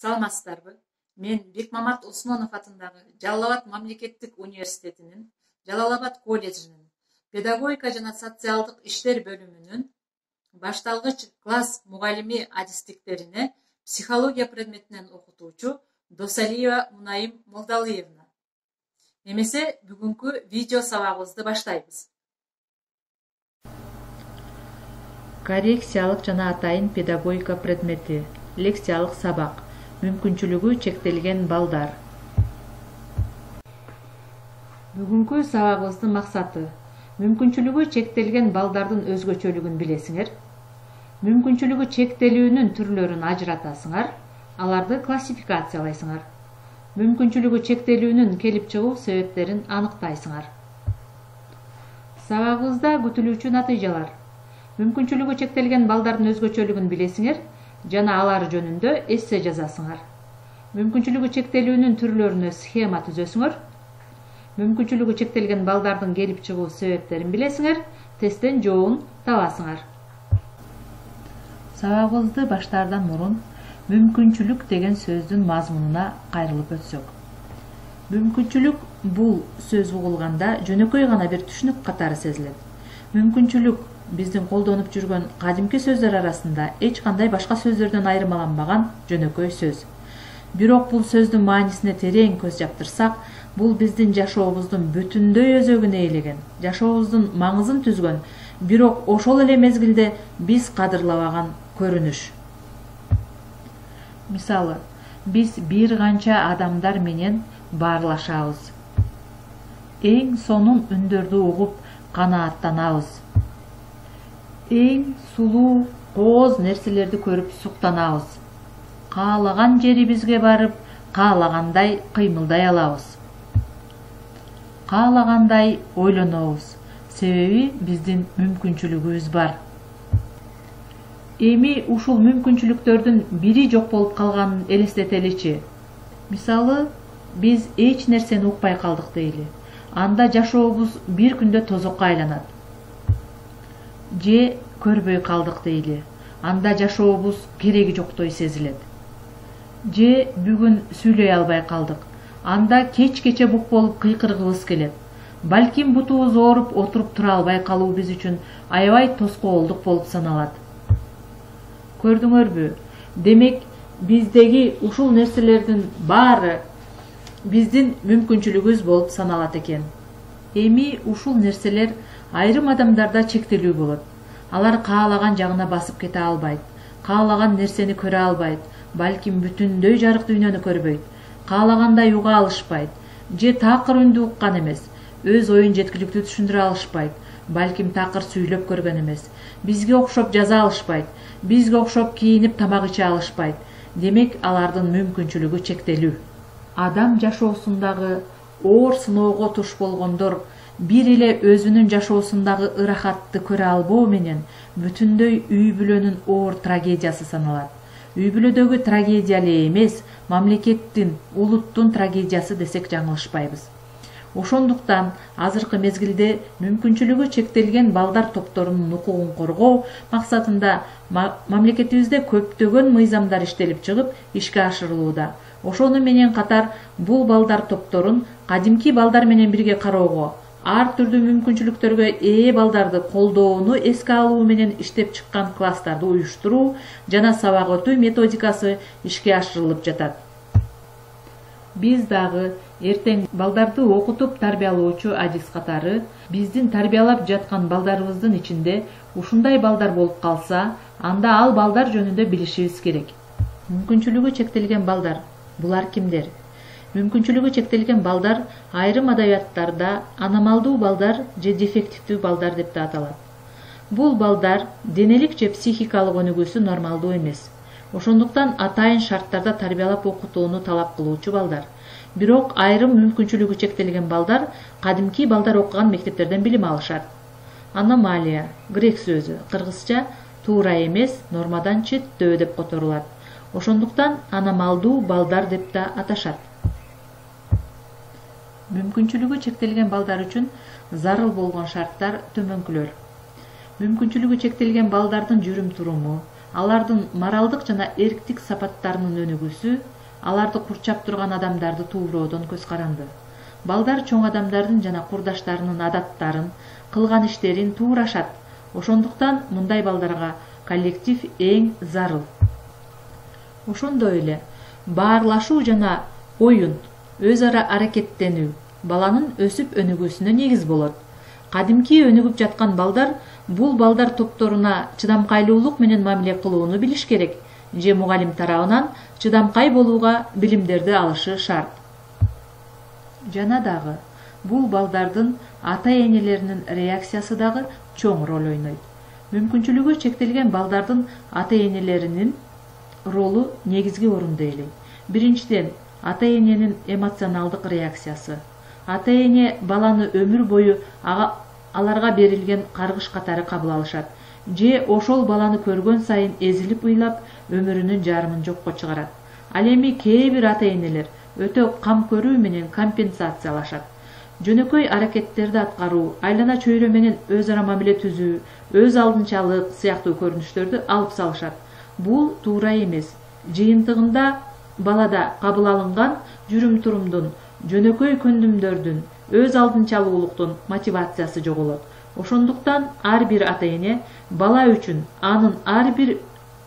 Саламатсыздарбы? Мен Бекмамат Осмонов атындагы Жалал Абад мамлекеттик университетинин Жалал Абад колледжинин педагогика жана социалдык иштер бөлүмүнүн башталгыч класс мугалими адистиктерине психология предметинен окутуучу Досалиева Мунайым Молдалыевна. Эмесе бүгүнкү видео сабагыбызды баштайбыз. Коррекциялык жана атайын педагогика предмети. Лекциялык сабак. Мүмкүнчүлүгү чектелген балдар. Бүгүнкү сабагыбыздын максаты мүмкүнчүлүгү чектелген балдардын өзгөчөлүгүн билесиңер. Мүмкүнчүлүгү чектелүүнүн түрлөрүн ажыратасыңар, аларды классификациялайсыңар. Мүмкүнчүлүгү чектелүүнүн келип чыгуу себептерин аныктайсыңар. Сабагыбызда күтүлүүчү натыйжалар. Мүмкүнчүлүгү чектелген балдардын өзгөчөлүгүн билесиңер жана алар жөнүндө эссе жазасыңар. Мүмкүнчүлүгү чектелүүнүн түрлөрүнө схема түзөсүңөр. Мүмкүнчүлүгү чектелген балдардын келип чыгуу себептерин билесиңер, тесттен жообун табасыңар. Сабагыбызды баштаардан мурун мүмкүнчүлүк деген сөздүн мазмунуна кайрылып өтсөк. Мүмкүнчүлүк бул сөз угулганда жөнөкөй гана бир түшүнүк катары сезилет. Мүмкүнчүлүк биздин колдонуп жүргөн кадимки сөздөр арасында эч кандай башка сөздөрдөн айырмаланбаган жөнөкөй сөз. Бирок бул сөздүн маанисине терең көз жаптырсак, бул биздин жашообуздун бүтүндөй өзөгүн ээлеген, жашообуздун маңызын түзгөн, бирок ошол эле мезгилде биз кадырлабаган көрүнүш. Мисалы, биз бир канча адамдар менен баарлашабыз. Эң сонун үндөрдү угуп канааттанабыз. Эң сулуу, кооз нерселерди көрүп суктанабыз. Каалаган жерибизге барып, каалагандай кыймылдай алабыз. Каалагандай ойлонобуз, себеби биздин мүмкүнчүлүгүбүз бар. Эми ушул мүмкүнчүлүктөрдүн бири жок болуп калганын элестетеличи. Мисалы, биз эч нерсени укпай калдык дейли. Анда жашообуз бир күндө тозокко айланат. Же көрбөй калдык дейли. Анда жашообуз кереги жоктой сезилет. Же бүгүн сүйлөй албай калдык. Анда кечкече бук болуп кыйкыргыбыз келет. Балким бутубуз ооруп отуруп тура албай калуу биз үчүн аябай тоскоолдук болуп саналат. Көрдүңөрбү? Демек, биздеги ушул нерселердин баары биздин мүмкүнчүлүгүбүз болуп саналат экен. Эми ушул нерселер айрым адамдарда чектелүү болот. Алар каалаган жагына басып кете албайт, каалаган нерсени көрө албайт, балким бүтүндөй жарык дүйнөнү көрбөйт, каалагандай уга алышпайт, же такыр үндү уккан эмес, өз оюн жеткиликтүү түшүндүрө алышпайт, балким такыр сүйлөп көргөн эмес, бизге окшоп жаза алышпайт, бизге окшоп кийинип тамак иче алышпайт. Демек, алардын мүмкүнчүлүгү чектелүү. Адам жашоосундагы оор сыноого туш болгондор бир эле өзүнүн жашоосундагы ырахатты көрө албоо менен бүтүндөй үй бүлөнүн оор трагедиясы саналат. Үй бүлөдөгү трагедия эле эмес, мамлекеттин, улуттун трагедиясы десек жаңылышпайбыз. Ошондуктан азыркы мезгилде мүмкүнчүлүгү чектелген балдар топторунун укугун коргоо максатында мамлекетибизде көптөгөн мыйзамдар иштелип чыгып, ишке ашырылууда. Ошону менен катар бул балдар топторун кадимки балдар менен бирге кароого, ар түрдүү мүмкүнчүлүктөргө ээ балдарды колдоону эске алуу менен иштеп чыккан класстарды уюштуруу жана сабак өтүү методикасы ишке ашырылып жатат. Биз дагы эртең балдарды окутуп тарбиялоочу адис катары биздин тарбиялап жаткан балдарыбыздын ичинде ушундай балдар болуп калса, анда ал балдар жөнүндө билишибиз керек. Мүмкүнчүлүгү чектелген балдар — булар кимдер? Мүмкүнчүлүгү чектелген балдар айрым адабияттарда аномалдуу балдар же дефективдүү балдар деп да аталат. Бул балдар денелик же психикалык өнүгүүсү нормалдуу эмес. Ошондуктан атайын шарттарда тарбиялап окутууну талап кылуучу балдар. Бирок айрым мүмкүнчүлүгү чектелген балдар кадимки балдар окуган мектептерден билим алышат. Аномалия, грек сөзү, кыргызча туура эмес, нормадан четтөө деп которулат. Ошондуктан аномалдуу балдар деп да аташат. Мүмкүнчүлүгү чектелген балдар үчүн зарыл болгон шарттар төмөнкүлөр. Мүмкүнчүлүгү чектелген балдардын жүрүм туруму, алардын моралдык жана эрктик сапаттарынын өнүгүүсү аларды курчап турган адамдарды тууроодон көз каранды. Балдар чоң адамдардын жана курдаштарынын адаттарын, кылган иштерин туурашат. Ошондуктан мындай балдарга коллектив эң зарыл. Ошондой эле баарлашуу жана оюн, өз ара аракеттенүү баланын өсүп өнүгүүсүнө негиз болот. Кадимки өнүгүп жаткан балдар бул балдар топторуна чыдамкайлуулук менен мамиле кылууну билиш керек же мугалим тарабынан чыдамкай болууга билимдерди алышы шарт. Жана дагы бул балдардын ата-энелеринин реакциясы дагы чоң роль ойнойт. Мүмкүнчүлүгү чектелген балдардын ата-энелеринин ролу негизги орунду ээлейт. Биринчиден, ата-эненин эмоционалдык реакциясы. Ата-эне баланы өмүр бою аларга берилген каргыш катары кабыл алышат, же ошол баланы көргөн сайын эзилип ыйлап, өмүрүнүн жарымын жокко чыгарат. Ал эми кээ бир ата-энелер өтө кам көрүү менен компенсациялашат. Жөнөкөй аракеттерди аткаруу, айлана чөйрө менен өз ара мамиле түзүү, өз алдынчалык сыяктуу көрүнүштөрдү алып салышат. Бул туура эмес. Жыйынтыгында балада кабыл алынган жүрүм-турумдун, жөнөкөй көндүмдөрдүн, өз алдынчалуулуктун мотивациясы жоголот. Ошондуктан ар бир ата-эне бала үчүн анын ар бир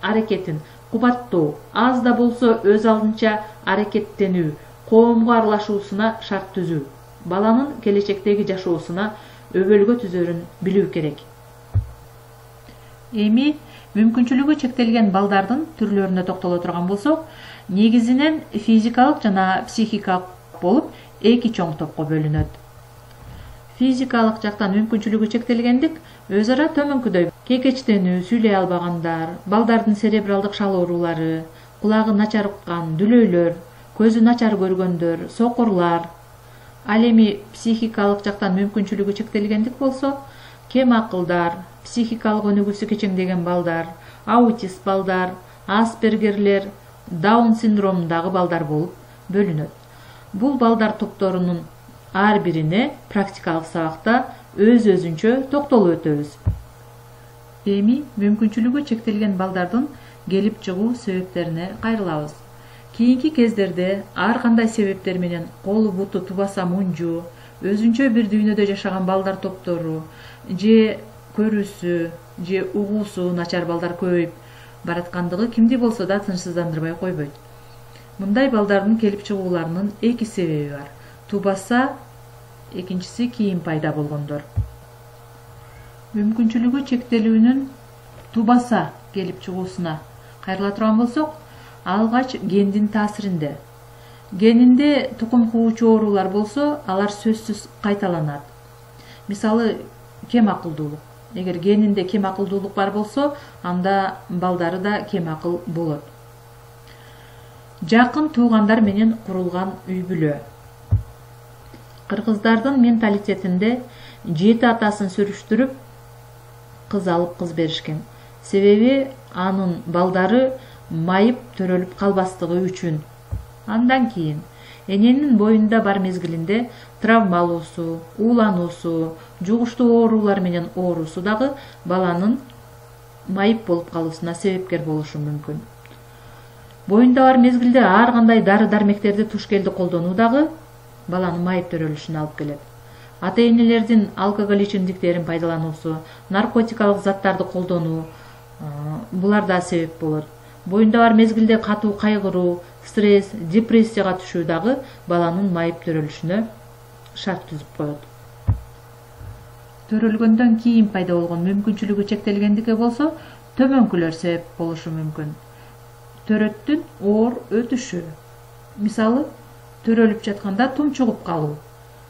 аракетин кубаттоо, аз да болсо өз алдынча аракеттенүү, коомго аралашуусуна шарт түзүү, баланын келечектеги жашоосуна өбөлгө түзөрүн билүү керек. Эми мүмкүнчүлүгү чектелген балдардын түрлөрүнө токтоло турган болсок, негизинен физикалык жана психикалык болуп эки чоң топко бөлүнөт. Физикалык жактан мүмкүнчүлүгү чектелгендик өз ара төмөнкүдөй: кекечтенүү, сүйлөй албагандар, балдардын церебралдык шал оорулары, кулагы начар уккан, дүлөйлөр, көзү начар көргөндөр, сокурлар. Ал эми психикалык жактан мүмкүнчүлүгү чектелгендик болсо, кем акылдар, психикалык өнүгүүсү кечеңдеген балдар, аутист балдар, аспергерлер, даун синдромундагы балдар болуп бөлүнөт. Бул балдар топторунун ар бирине практикалык сабакта өз-өзүнчө токтолуп өтөбүз. Эми мүмкүнчүлүгү чектелген балдардын келип чыгуу себептерине кайрылабыз. Кийинки кездерде ар кандай себептер менен колу буту тубаса мунжу, өзүнчө бир дүйнөдө жашаган балдар топтору, же көрүүсү, же угуусу начар балдар көбөйүп бараткандыгы кимди болсо да тынчсыздандырбай койбойт. Мындай балдардын келип чыгууларынын эки себеби бар. Тубаса, экинчиси кийин пайда болгондор. Мүмкүнчүлүгү чектелүүнүн тубаса келип чыгуусуна кайрыла турган болсок, алгач гендин таасиринде. Генинде тукум куучу оорулар болсо, алар сөзсүз кайталанат. Мисалы, кем акылдуулук. Эгер генинде кем акылдуулук бар болсо, анда балдары да кем акыл болот. Жакын туугандар менен курулган үй-бүлө. Кыргыздардын менталитетинде 7 атасын сүрүштүрүп кыз алып кыз беришкен. Себеби анын балдары майып төрөлүп калбастыгы үчүн. Андан кийин эненин боюнда бар мезгилинде травма алуусу, уулануусу, жугуштуу оорулар менен оорусу дагы баланын майып болуп калуусуна себепкер болушу мүмкүн. Боюнда бар мезгилде ар кандай дары-дармектерди туш келди колдонуу дагы баланын майып төрөлүшүнө алып келет. Ата-энелердин алкоголь ичимдиктерин пайдалануусу, наркотикалык заттарды колдонуу булар да себеп болот. Боюнда бар мезгилде катуу кайгыруу, стресс, депрессияга түшүү дагы баланын майып төрөлүшүнө шарт түзүп коет. Төрөлгөндөн кийин пайда болгон мүмкүнчүлүгү чектелгендикке болсо, төмөнкүлөр себеп болушу мүмкүн. Төрөттүн оор өтүшү. Мисалы, төрөлүп жатканда тумчугуп калуу,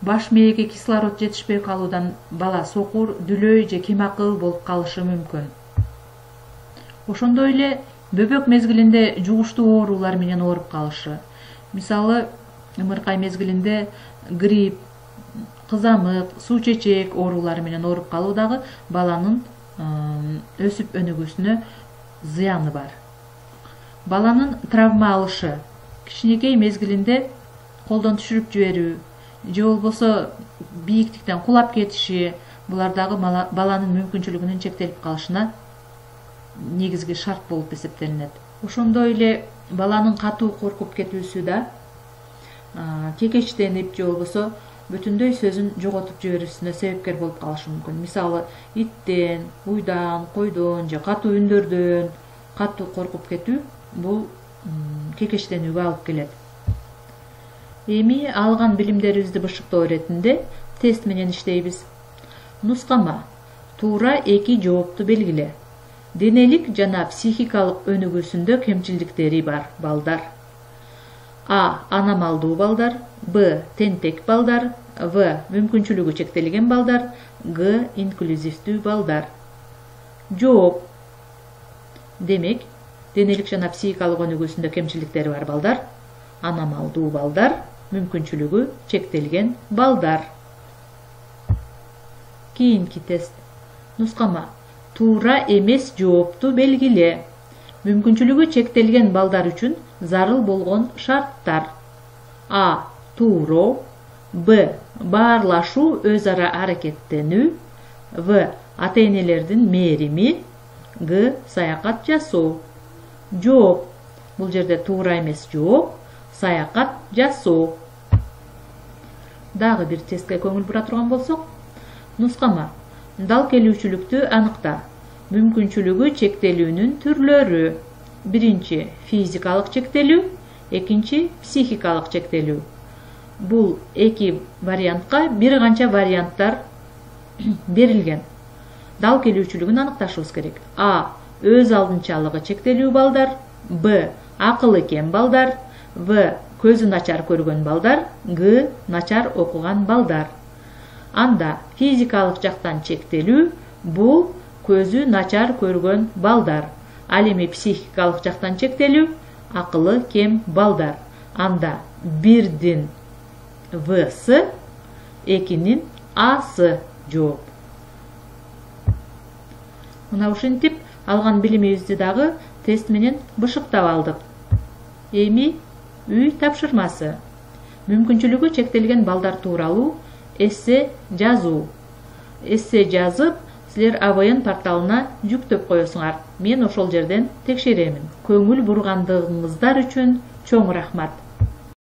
баш мээге кислород жетишпей калуудан бала сокур, дүлөй же кемакыл болуп калышы мүмкүн. Ошондой эле бөбөк мезгилинде жугуштуу оорулар менен ооруп калышы. Мисалы, ымыркай мезгилинде грипп, кызамык, суу чечек оорулары менен ооруп калуу дагы баланын өсүп өнүгүүсүнө зыяны бар. Баланын травма алышы, кичинекей мезгилинде колдон түшүрүп жиберүү, же болбосо бийиктиктен кулап кетиши, булар дагы баланын мүмкүнчүлүгүнүн чектелип калышына негизги шарт болуп эсептелинет. Ошондой эле баланын катуу коркуп кетүүсү да кекечтенип же болбосо бүтүндөй сөзүн жоготуп жиберүүсүнө себепкер болуп калышы мүмкүн. Мисалы, иттен, уйдан, койдон же катуу үндөрдөн катуу коркуп кетүү бул кекечтенүүгө алып келет. Эми алган билимдерибизди бышыктоо иретинде тест менен иштейбиз. Нускама: туура эки жоопту белгиле. Денелик жана психикалык өнүгүүсүндө кемчиликтери бар балдар. А. Аномалдуу балдар. Б. Тентек балдар. В. Мүмкүнчүлүгү чектелген балдар. Г. Инклюзивдүү балдар. Жооп: демек, денелик жана психикалык өнүгүүсүндө кемчиликтери бар балдар, аномалдуу балдар, мүмкүнчүлүгү чектелген балдар. Кийинки тест. Нускама: туура эмес жоопту белгиле. Мүмкүнчүлүгү чектелген балдар үчүн зарыл болгон шарттар. А. Тууроо. Б. Баарлашуу, өз ара аракеттенүү. В. Ата-энелердин мээрими. Г. Саякат жасоо. Жооп: бул жерде туура эмес жооп, саякат жасоо. Дагы бир тестке көңүл бура турган болсок, нускама: дал келүүчүлүктү аныкта. Мүмкүнчүлүгү чектелүүнүн түрлөрү. Биринчи — физикалык чектелүү, экинчи — психикалык чектелүү. Бул эки вариантка бир канча варианттар берилген. Дал келүүчүлүгүн аныкташыбыз керек. А. Өз алдынчалыгы чектелүү балдар. Б. Акылы кем балдар. В. Көзү начар көргөн балдар. Г. Начар окуган балдар. Анда физикалык жактан чектелүү бул көзү начар көргөн балдар. Ал эми психикалык жактан чектелүү акылы кем балдар. Анда бирдин В-сы, экинин А-сы жооп. Мына ушинтип алган билимибизди дагы тест менен бышыктап алдык. Эми үй тапшырмасы. Мүмкүнчүлүгү чектелген балдар тууралуу эссе жазуу. Эссе жазып, силер АВН порталына жүктөп коесуңар. Мен ошол жерден текшеремин. Көңүл бургандыгыңыздар үчүн чоң рахмат.